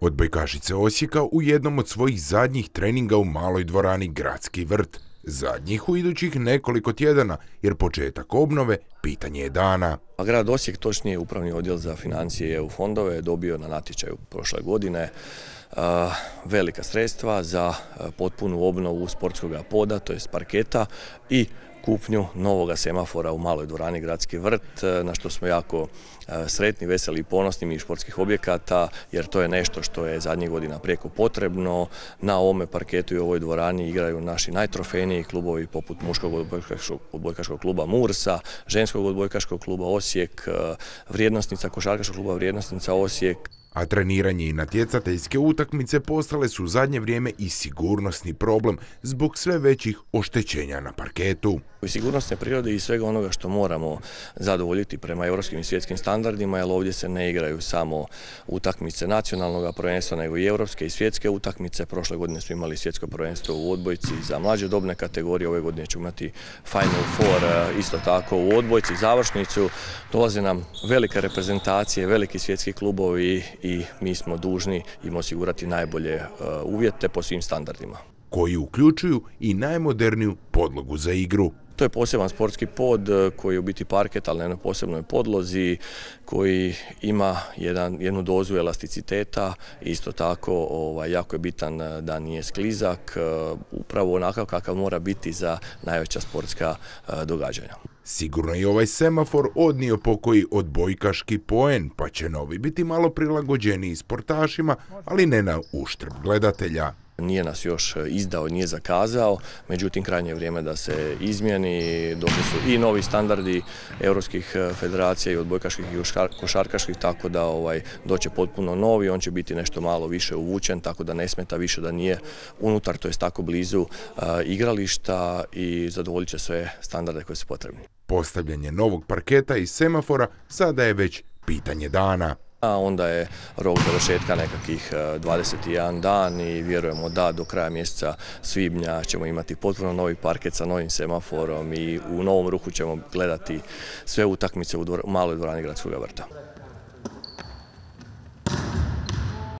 Odbojkašice Osijeka u jednom od svojih zadnjih treninga u maloj dvorani Gradski vrt. Zadnjih u idućih nekoliko tjedana, jer početak obnove pitanje je dana. Grad Osijek, točnije Upravni odjel za financije i EU fondove, je dobio na natječaju prošle godine velika sredstva za potpunu obnovu sportskog poda, to jest parketa, i kupnju novoga semafora u maloj dvorani Gradski vrt, na što smo jako sretni, veseli i ponosni mi športskih objekata, jer to je nešto što je zadnjih godina prijeko potrebno. Na ovome parketu i ovoj dvorani igraju naši najtrofejniji klubovi poput muškog odbojkaškog kluba Mursa, ženskog odbojkaškog kluba Osijek, vrijednosnica košarkaškog kluba Vrijednosnica Osijek. A treniranje i natjecateljske utakmice postale su u zadnje vrijeme i sigurnosni problem zbog sve većih oštećenja na parketu. I sigurnosne prirode i svega onoga što moramo zadovoljiti prema europskim i svjetskim standardima, jer ovdje se ne igraju samo utakmice nacionalnog prvenstva, nego i europske i svjetske utakmice. Prošle godine smo imali svjetsko prvenstvo u odbojci za mlađe dobne kategorije, ove godine ćemo imati Final Four isto tako u odbojci, završnicu. Dolaze nam velike reprezentacije, veliki svjetski klubovi i mi smo dužni im osigurati najbolje uvjete po svim standardima, koji uključuju i najmoderniju podlogu za igru. To je poseban sportski pod koji je u biti parket, ali na jednoj posebnoj podlozi, koji ima jednu dozu elasticiteta. Isto tako jako je bitan da nije sklizak, upravo onakav kakav mora biti za najveća sportska događanja. Sigurno i ovaj semafor odnio pokoji odbojkaški poen, pa će novi biti malo prilagođeniji sportašima, ali ne na uštrb gledatelja. Nije nas još izdao, nije zakazao, međutim krajnje je vrijeme da se izmijeni. Došli su i novi standardi europskih federacija i odbojkaških i košarkaških, tako da doće potpuno novi, on će biti nešto malo više uvučen, tako da ne smeta više da nije unutar, to jest tako blizu igrališta, i zadovoljit će sve standarde koji su potrebni. Postavljanje novog parketa i semafora sada je već pitanje dana. A onda je rok završetka nekakvih 21 dan i vjerujemo da do kraja mjeseca svibnja ćemo imati potpuno novi parket sa novim semaforom i u novom ruhu ćemo gledati sve utakmice u maloj dvorani Gradskog vrta.